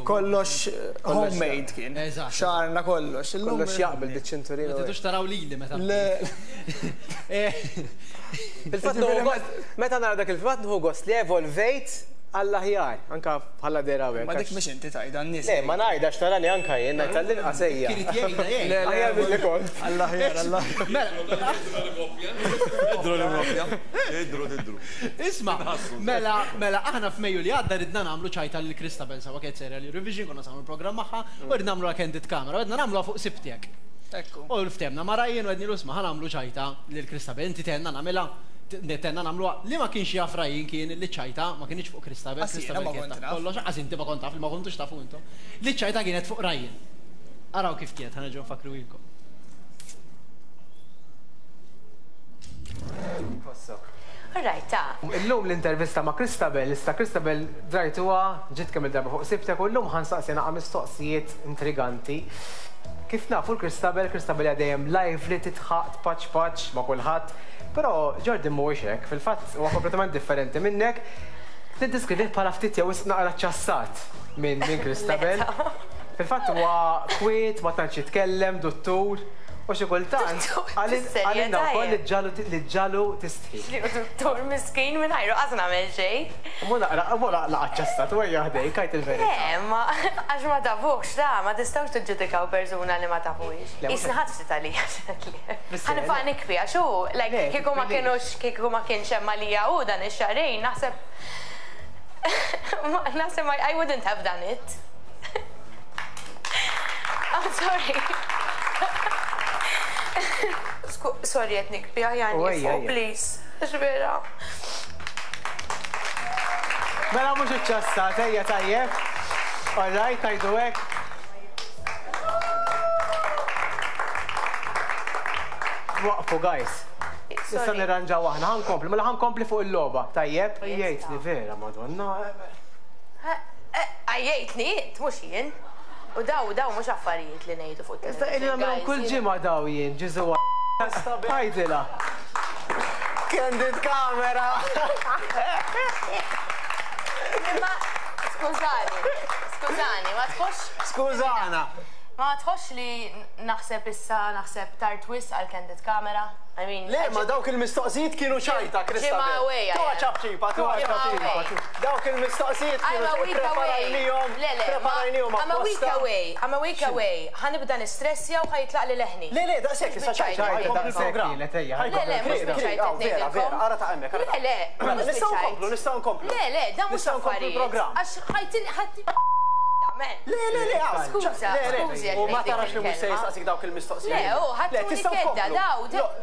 Kollox homemade kien. Xarna kollox. Kollox jaqbel biċ-ċinturina. Ma tridux taraw lili meta. Fil-fatt meta nara dak il-fatt nieħu gost li evolvejt għall-aħjar, anka bħala dera hawnhekk. Ma dik mhux inti tgħidha n-nies. Le, ma ngħidha x'tarani anka jien, ngħid tal-inqas ejja. Kien jgħidha jgħid. Aħjar milli kont. Għall-aħjar, għall-aħjar. Idru l-kopja. Idru, idru. Isma', mela, mela aħna f'Mejju li għadda ridna nagħmlu ċajta lil Christabel sawa kienet serja l-Eurovision, konna nagħmlu programm magħha u ridna nagħmluha candid camera, ridna nagħmluha fuq sibtek. Ekku. U ftehmna ma' Ryan u għednilu isma' ħa nagħmlu ċajta lil Christabel, inti tgħinna nagħmilha. Tenna nagħmluha li ma kienx jaf Ryan kien li ċajta ma kienx fuq Christabel, Christabel kienet taf kollox, għax inti ma kont taf li ma kontux tafu intom. Li ċajta kienet fuq Ryan. Araw kif kienet, ħa nerġgħu nfakru ilkom. Alright, ta. Illum l-intervista ma' Christabel, issa Christabel drajtuha ġiet kemm il-darba fuq sibtek u llum ħa nsaqsi naqa' mistoqsijiet intriganti. Kif nafu l-Christabel, Christabel hija dejjem lively, titħaq, tpaċ paċ ma' kulħadd. Però Jordan mhuwiex hekk, fil-fatt huwa kompletament differenti minnek. Niddeskrivih bħala ftit jew wisq naqra ċassat minn minn Christabel. Fil-fatt huwa kwiet, ma tantx jitkellem, duttur. U xi kultant għalilna wkoll li ġalu li ġalu tistħi. Duttur miskin minn ħajru qas nagħmel xejn. Mu naqra, mu naqra ċassat, u ejja ħdejk, għid il-verità. Le, ma għax ma tafux, da, ma tistgħux tiġġudikaw persuna li ma tafux. Isna ħadd ftit għalija. Ħa nibqa' nikbi għax hu, like kieku ma kienux kieku ma kienx hemm għalija hu dan ix-xahrejn naħseb naħseb I wouldn't have done it. I'm sorry. Sorry qed nikbi għajani fuq, please. Għax vera. Mela mhux iċċassat, ejja tajjeb. All right, ngħidu hekk. Waqfu, guys. Issa nirranġaw aħna, ħa nkompli, mela ħa nkompli fuq il-logħba, tajjeb? Jgħidni vera, Madonna. Għajjejtni, mhux jien. U daw, daw mhux affarijiet li ngħidu fuq Issa illi nagħmilhom kull ġimgħa daw jien, Ġesu. Għajdilha. Candid camera. Imma skużani, skużani, ma tħoss. Skużana. Ma tħoss li naħseb issa naħseb tard wisq għal candid camera? I mean, Le, ma dawk il-mistoqsijiet kienu ċajta, Christabel. Tuha ċapċipa, tuha ċapċipa. Dawk il-mistoqsijiet kienu preparajnihom. Le, le, preparajnihom I'm a week away, I'm a week away. Ħa nibda nistressja u ħa jitlaq li leħni. Le, le, daqshekk issa ċajta. Daqshekk kienet, ejja. Le, le, mhux biċ-ċajta qed Vera, vera, ara ta' hemmhekk. Le, le, mhux Nistgħu nkomplu, nistgħu nkomplu. Le, le, dan mhux Nistgħu nkomplu l-programm. Għax ħajtin ħadd Le, le, le, Skuża, skużi. U ma tarax li mhux se jistaqsik dawk il-mistoqsijiet. Le, u ħadd kedda daw,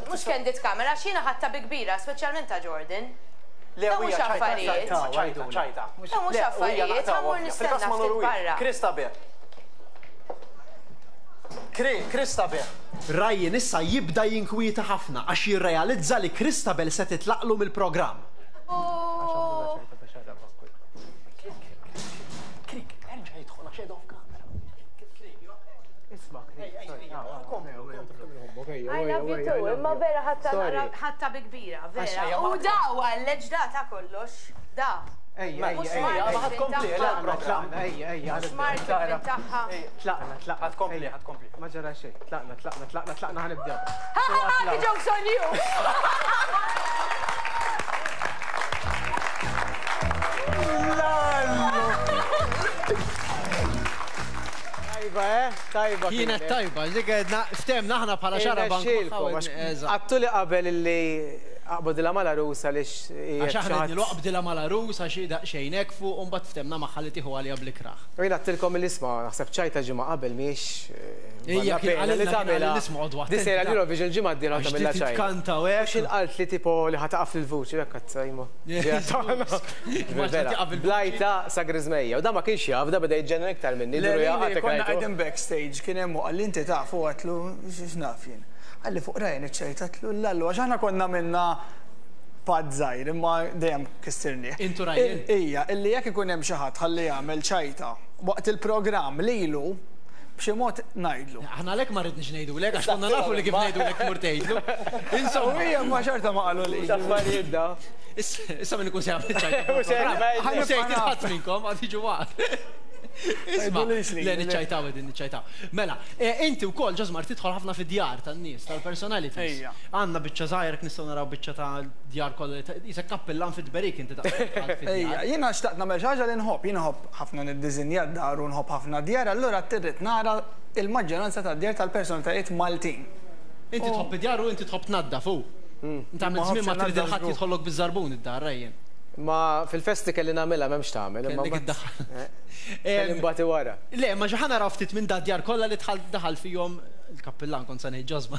mhux candid camera, x'jiena ħadta bi kbira, speċjalment ta' Jordan. Le, Daw mhux affarijiet. ċajta, ċajta. Daw mhux affarijiet, ħa mmur nistenna ftit barra. Christabel. Christabel. Ryan issa jibda jinkwieta ħafna għax jirrealizza li Christabel se titlaqlu mill-programm. I love you too, imma vera ħatta bi kbira, vera. U daw għalleġ da ta' kollox, da. Ejja, ejja, ejja, ma ħa tkompli, tlaqna, ejja, ejja, Smart tagħha. Tlaqna, tlaqna. Ħa tkompli, ħa tkompli. Ma ġara xejn, tlaqna, tlaqna, tlaqna, tlaqna ħa nibdew. Ha ha ha, the joke's on you. Tajba, eh? Tajba. Kienet tajba, dik għedna ftemna aħna bħala xarabank. Għattu li qabel illi aqbdilha mal-għarus għaliex. Għax aħna qed aqbdilha mal-għarus għax daqsxejn fuq u mbagħad ftemna magħha li tieħu għalija bl-ikrah. U jien għattilkom il-isma, naħseb ċajta ġimgħa qabel mhijiex. Ejja, kien qalilna l-isma għodu Di sejra l-Eurovision ġimgħa d-dieħla tagħmilha ċajta. Tkanta u hekk. X'in qalt li tipo li ħa taqaf lill-vuċi hekk qed sajmu. Blajta sa griżmejja u da ma kienx jaf, da beda jiġġenna iktar minni. Konna qegħdin backstage kien hemm u qal inti taf u għatlu x'naf jien. Għalli fuq Ryan iċ-ċajta għatlu l-allu għax aħna konna minna pad żgħir imma dejjem kistirni. Intu Ryan? Ija, illi jekk ikun hemm xi ħadd ħalli jagħmel ċajta waqt il-programm lilu b'xi mod ngħidlu. Aħna għalhekk ma rridniex ngħidulek għax konna nafu li kif ngħidulek tmur tgħidlu. Insomma. U hija ma xorta ma qalu li. X'affarijiet da. Issa min ikun se jagħmel ċajta. Mhux se jgħid minnkom għad jiġu waqt. Isma, le niċċajtaw qegħdin niċċajtaw. Mela, inti wkoll Ġosmar tidħol ħafna fid-djar tan-nies, tal-personalities. Għandna biċċa żgħir nistgħu naraw biċċa ta' djar kollha isek kappellan fit-tberik inti taqbel. Ejja, jiena xtaqt nagħmel xi ħaġa li nħobb, jiena nħobb ħafna niddiżinja d-dar u nħobb ħafna djar, allura trid nara il-maġġoranza tad-djar tal-personalitajiet Maltin. Inti tħobb id-djar u inti tħobb tnaddaf hu. Inti għamilt żmien ma trid il-ħadd jidħollok biż-żarbun id-dar Ryan. Ma fil-festi kelli nagħmilha m'hemmx tagħmel. Kellek iddaħħal. Kelli nbati wara. Le, ma xi ħa naraw ftit minn da djar kollha li dħal daħal fihom il-kappillan kont se ngħid Ġosma.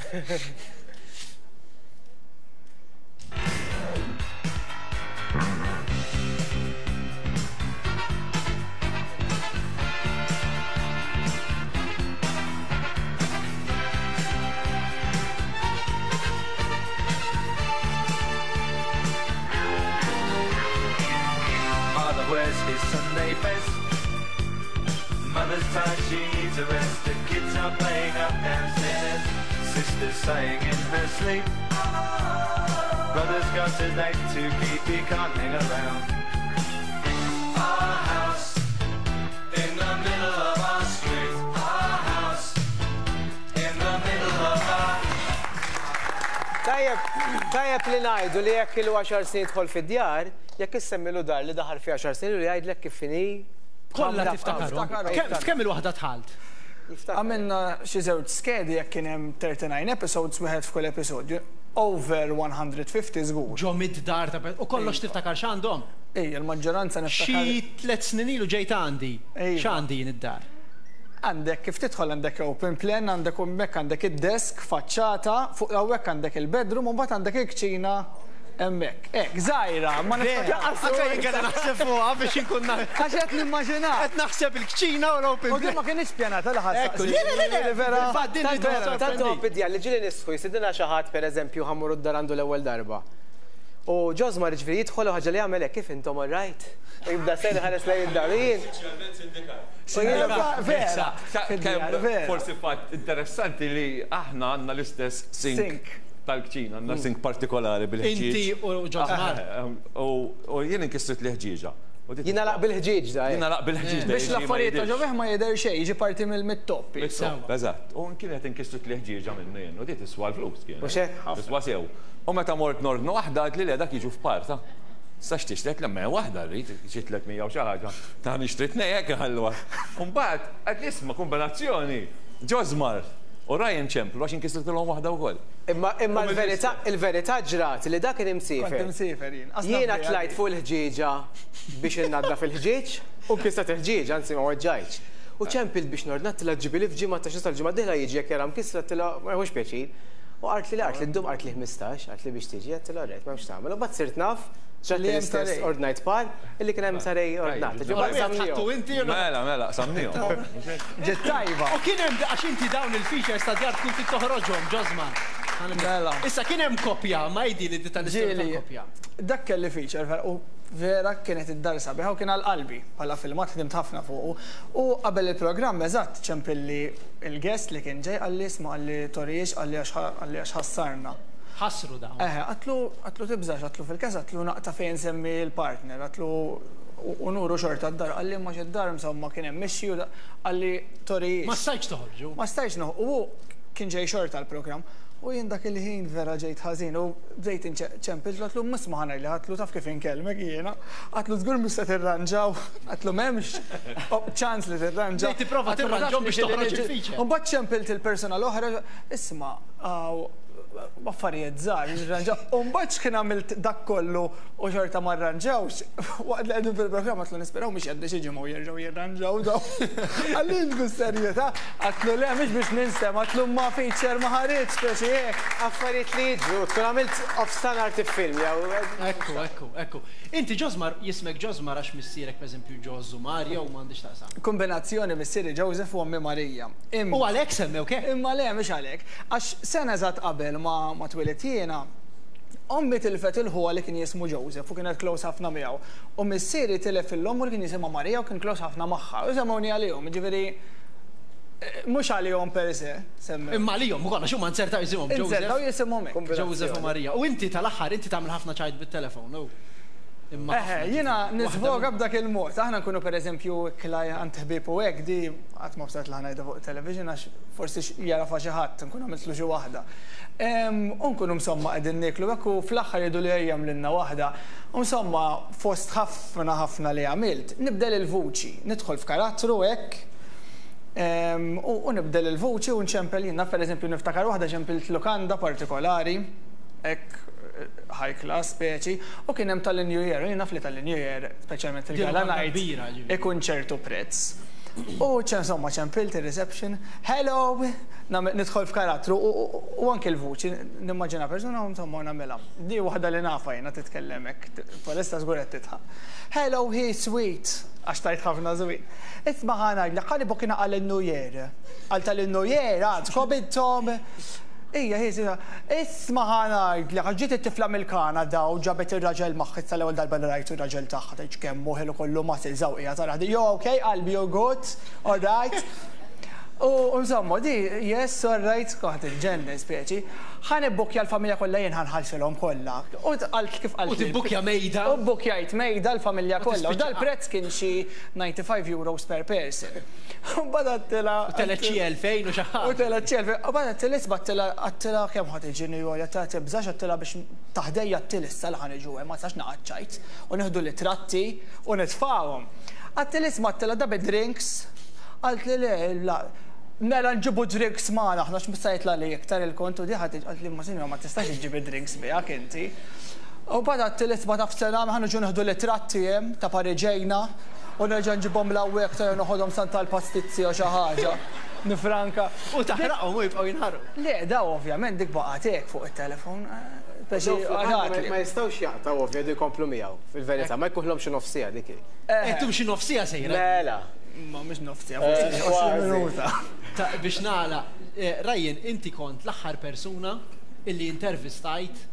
his Sunday best. Mother's tired, she needs a rest. The kids are playing up downstairs. Sister's sighing in her sleep. Brother's got a date to keep, he can't hang around. Our house in the middle of our street. Our house in the middle of our. Tajjeb, tajjeb li ngħidu li jekk ilu għaxar snin jidħol fid-djar, jekk issemmilu dar li daħal fi għaxar snin u jgħidlek kif inhi. Kollha tiftakarhom. Kemm kemm il-waħda dħalt? Għamilna xi żewġ skedi jekk kien hemm thirty-nine episodes, wieħed f'kull episodju. Over one hundred fifty żgur. Ġo mid-dar ta' u kollox tiftakar x'għandhom? Ejja, l-maġġoranza niftakar. Xi tliet snin ilu ġejt għandi. Iva. X'għandi jien id-dar? Għandek kif tidħol għandek open plan, għandek hemmhekk għandek id-desk, faċċata, fuq hawnhekk għandek il-bedroom, u mbagħad għandek il-kċina hemmhekk. Hekk, żgħira, ma Vera, anke jien kellha naħseb fuqha biex inkun naf. Għax qed nimmaġina. Qed naħseb il-kċina u l-open U din ma kienx pjanata li ħadd. Ekku, le, le, le, le, vera. Infatti, din li Vera. Tant huwa bidja li ġieli nistħu jsidina xi ħadd, pereżempju, ħa mmorru d-dar għandu l-ewwel darba. U Josmar ġifieri jidħol u ħaġa li jagħmel hekk, "Kif intom, all right?" U jibda sejri ħares lejn id-dar. Jien. Vera. Kemm forsi fatt interessanti li aħna għandna l-istess sink Sink. tal-kċina, għandna sink partikolari bil-ħġieġ. Inti u Josmar. U jien inkissrit l-ħġieġa. Jingħalaq bil-ħġieġ da. Jingħalaq bil-ħġieġ da. Biex l-affarijiet ta' ġo fih ma jidher xejn, jiġi parti mill-top. Eżatt, u kienet inkissrit l-ħġieġa minnu jien, u di tiswa l-flus kien. U xek? Tiswa sew. U meta mort nordnu waħda, għad li le, dak jiġu f'parta. Sa x'tixtret lemma waħda rrid, xi tliet mija u xi ħaġa. Ta' nixtri tnejn hekk ħalwa. Mbagħad qed nisma' kombinazzjoni. Josmar u Ryan ċemplu għax inkissritilhom waħda wkoll. Imma imma l-verità il-verità ġrat li dak kien imsiefer. Kont imsiefer jien. Jiena tlajt fuq il-ħġieġa biex innaddaf il-ħġieġ u nkissret il-ħġieġ, anzi ma weġġajtx. U ċempilt biex nordna, tila ġibili f'ġimgħa ta' xi l-ġimgħa dieħla jiġi jekk jara mkissra, tila ma jħux pjaċir. U qalt li qalt li ddum, qalt li ħmistax, qalt li biex tiġi, għedtilha rejt, m'hemmx tagħmel. U bad sirt naf ġrat Li hemm l-istess tarej. ordnajt par illi kien hemm tarej ordnat. Ħattu inti u Mela, mela, samnihom. Ġiet tajba. U kien hemm, għax inti dawn il-features ta' djar tkun trid toħroġhom, Josmar. Mela. Issa kien hemm kopja, ma jdi li tal-istorja Ġieli, tal-kopja. Dak kelli feature vera, u vera kienet id-dar sabiħa u kien għal-qalbi bħala filmat, ħdimt ħafna fuqu. U qabel il-programm eżatt ċempilli il-guest li kien ġej, qalli isma', qalli toriex, qalli għax qalli għax ħassarna. Ħassru dawn. Eħe, għedtlu, għedtlu tibżax, għedtlu fil-kas, għedtlu naqta' fejn semmi l-partner, għedtlu u nuru xorta d-dar, qalli ma d-dar insomma kien hemm mixi u da- qalli toriex. Ma stajtx toħorġu. Ma stajtx noħ, u kien ġej xorta l-programm. U jien dak il-ħin vera ġejt ħażin u bdejt inċempil, għedtlu misma ħana li għedtlu taf kif inkellmek jiena. Għedtlu żgur mhux se tirranġaw, għedtlu m'hemmx ċans li tirranġaw. Bdejt tipprova Għedtlu ma tirranġahom tafx biex li toħroġ li- il-feature. U mbagħad ċempilt il-persona l-oħra, isma' għaw, affarijiet żgħar, jirranġaw. U mbagħad x'kien għamilt dak kollu u xorta ma rranġawx, waqt li qegħdin fil-programm għedtlu nisperaw mhux jgħaddi xi ġimgħa u jerġgħu jirranġaw daw. Qalli bis-serjetà, għedtlu le, mhux biex ninsem, għedtlu ma feature ma ħareġ speċi hekk. Affarijiet li jiġru, tkun għamilt off-standard film jew. Ekku, ekku, ekku. Inti Josmar, jismek Josmar għax missierek pereżempju Ġożu Mario u m'għandix taqsam. Kombinazzjoni, missieri Joseph u ommi Marija. U għalhekk semmew ke? Imma le, mhux għalhekk. Għax sena eżatt qabel ma ma twilidt jiena, ommi tilfet il-ħuha li kien jismu Joseph u kienet close ħafna miegħu. U missieri tilef il-omm li kien jisimha Marija u kien close ħafna magħha. U semmewni għalihom, ġifieri eh, mhux għalihom per se, semmew. Imma għalihom ukoll għax huma nzertaw jisimhom Joseph. Inzertaw jisimhom hekk. Joseph u Marija. U inti tal-aħħar inti tagħmel ħafna ċajt bit-telefon, u. Imma Eħe, jiena nisvoga b'dak il-mod. Aħna nkunu per eżempju klaj għand ħbieb u hekk, di qatt ma bsat li ħanajda fuq television għax forsi jarafa xi ħadd nkun għamiltlu xi waħda. U nkunu insomma qegħdin nieklu hekk u fl-aħħar jgħidu li ejja lilna waħda. U insomma fost ħafna ħafna li għamilt, nibdel il-vuċi, nidħol f'karattru hekk. U nibdel il-vuċi u nċempel jiena, per eżempju niftakar waħda ċempilt lukanda partikolari, hekk high class speċi, u kien hemm tal-New Year, u jien naf li tal-New Year, speċjalment il-gala night, ikun ċertu prezz. U ċem insomma ċempilt il-reception, "Hello," nidħol f'karattru u anke l-vuċi, nimmaġina persuna u insomma nagħmilha. Di waħda li nafa jiena titkellem hekk, palissa żgur qed tidħaq. "Hello, hi sweet," għax tajt ħafna sweet. "Isma' ħa ngħidlek, ħalli booking għal New Year. Għal tal-New Year, għadkom intom." Ija, hi, isma' ħa ngħidlek, għax ġiet it-tifla mill-Kanada u ġabet ir-raġel magħha tal-ewwel darba li rajtu r-raġel tagħha tgħidx kemm hu ħelu kollu muscles hawn qiegħed tara. You okay, qalbi, you good, all right. U insomma, di, yes, all right, kont il-ġenni speċi. Ħa nibbukja l-familja kollha jien ħa nħallsilhom kollha. U qalt kif qalt. U tibbukja mejda. U bbukjajt mejda l-familja kollha. U dal-prezz kien xi disgħa u disgħin euros per person. U mbagħad għedtilha. U telgħet xi elfejn u xi ħaġa. U telgħet xi elfejn. U mbagħad għedtilha isma' għedtilha għedtilha kemm ħa tiġini għolja ta' tibżax għedtilha biex taħdejja għedtilha issa li ħa niġu hemm ma tistax naqgħod u nieħdu l-tratti u nitfgħuhom. Għedtilha isma' għedtilha da bid-drinks. Qaltli le, la, mela nġibu drinks magħna, aħna x'mista jitla li iktar il-kontu di ħadd qaltli ma sinjora ma tistax iġġib drinks miegħek inti. U mbagħad għedtilha isma' taf sena ħa niġu nieħdu l-tratti hemm ta' Pariġejna u nerġa' nġibhom l-hawnhekk ta' noħodhom Santa l-pastizzi u xi ħaġa. Nifranka. U taħraqhom u jibqgħu jinħarqu. Le, daw ovvjament dik baqgħet hekk fuq it-telefon. Ma jistgħux jaqtgħu ovvja di jkomplu miegħu fil-verità, ma jkunlhom xi nofsija dik. Intum xi nofsija sejra. Mela. Ma mhux nofsija, forsi għoxrin minuta. Biex nagħlaq, Ryan, inti kont l-aħħar persuna illi intervistajt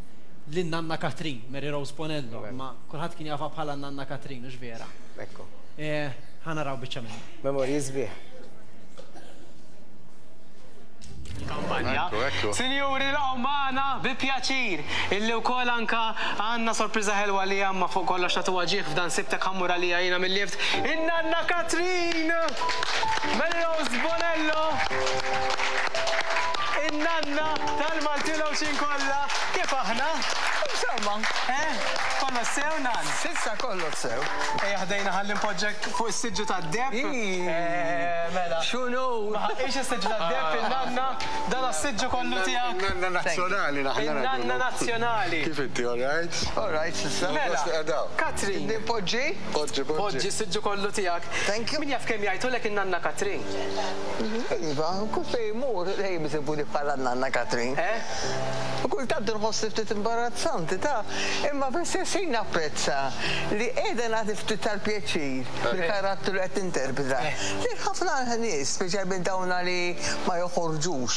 lin Nanna Katrin, Mary Rose Bonello, ma kulħadd kien jafha bħala Nanna Katrin, mhux vera. Ekku. Ħa naraw biċċa minnu. Memorji sbieħ. Kampanja. Sinjuri, laqgħu magħna bi pjaċir illi wkoll anka għandna sorpriża ħelwa li għamma fuq kollox nagħtuha ġieħ f'dan sibtek ħammur għalija jiena mill-lift. In-Nanna Katrin! Mary Rose Bonello! In-nanna tal-Maltin Għawdxin kollha. Kif aħna? Insomma, eh? Kollox sew, nan? Sissa kollox sew. Ejja ħdejna ħalli npoġġek fuq is-siġġu tad-deb. Mela. X'inhu? Ma ħaqix is-siġġu tad-deb in-nanna, dan is-siġġu kollu tiegħek. In-nanna nazzjonali naħna. In-nanna nazzjonali. Kif inti, all right? All right, sissa. Mela, Katrin. Poġġi? Poġġi, poġġi. Poġġi s-siġġu kollu tiegħek. Thank you. Min jaf kemm jgħidulek in-nanna Katrin? Iva, kull fejn imur, dejjem isibuni bħala n-nanna Katrin. Eh? U kultant nħossni ftit imbarazzanti ta' imma fl-istess ħin napprezza li qiegħda nagħti ftit tal-pjaċir bil-karattru li qed tinterpreta. Li ħafna nies, speċjalment dawna li ma joħorġux.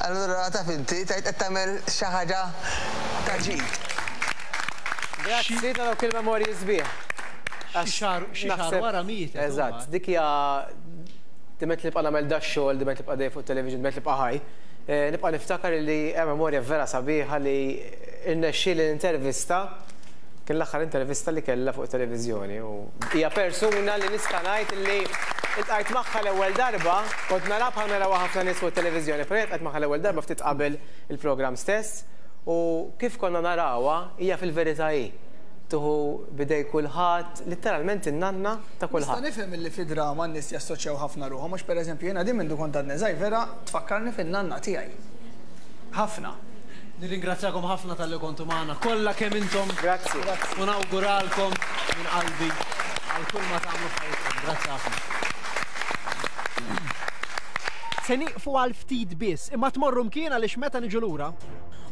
Allura taf inti tgħid qed tagħmel xi ħaġa ta' ġid. Grazzi ta' dawk il-memorji sbieħ. Xi xahar xi xahar wara mietet. Eżatt, dik hija diment li nibqa' nagħmel dax-xogħol, diment li nibqa' dej fuq television, diment li nibqa' ħaj. Nibqa' niftakar li hemm memorja vera sabiħa li rnexxieli l-intervista kien l-aħħar intervista li kellha fuq televiżjoni u hija persuna li nista' ngħid li iltqajt magħha l-ewwel darba, kont nara bħal narawha ħafna nies fuq televiżjoni, però iltqajt magħha l-ewwel darba ftit qabel il-programm stess u kif konna narawha hija fil-verità hi. Tuħu bidej kulħadd, letteralment in-nanna ta' kulħadd. Nista' nifhem illi fi drama n-nies jassoċjaw ħafna ruħhom, mhux pereżempju jiena din mindu kont għadni żgħir vera tfakkarni fin-nanna tiegħi. Ħafna. Nirringrazzjakom ħafna talli kontu magħna, kollha kemm intom. Grazzi. U nawguralkom minn qalbi għal kull ma tagħmlu f'ħajjitkom. Grazzi ħafna. Se nieqfu għal ftit biss, imma tmorru mkien għaliex meta niġu lura.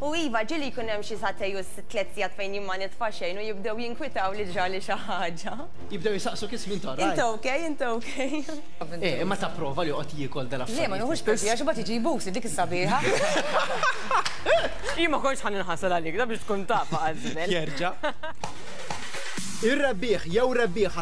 U iva, ġieli jkun hemm xi sagħtejn u tliet sigħat fejn jien ma nitfa' xejn u jibdew jinkwitaw li ġrali xi ħaġa. Jibdew jisaqsu kis minn torra. Inta okej, inta okej. Eh, imma ta' prova li joqgħod jiekol dal-affarijiet. Le, ma nieħux pjaċir għax imbagħad jiġi jbus dik is-sabiħa. Jien ma kontx ħa ninħasel għalik, da biex tkun taf għal żmien. Jerġa'. Ir-rebbieħ jew rebbieħa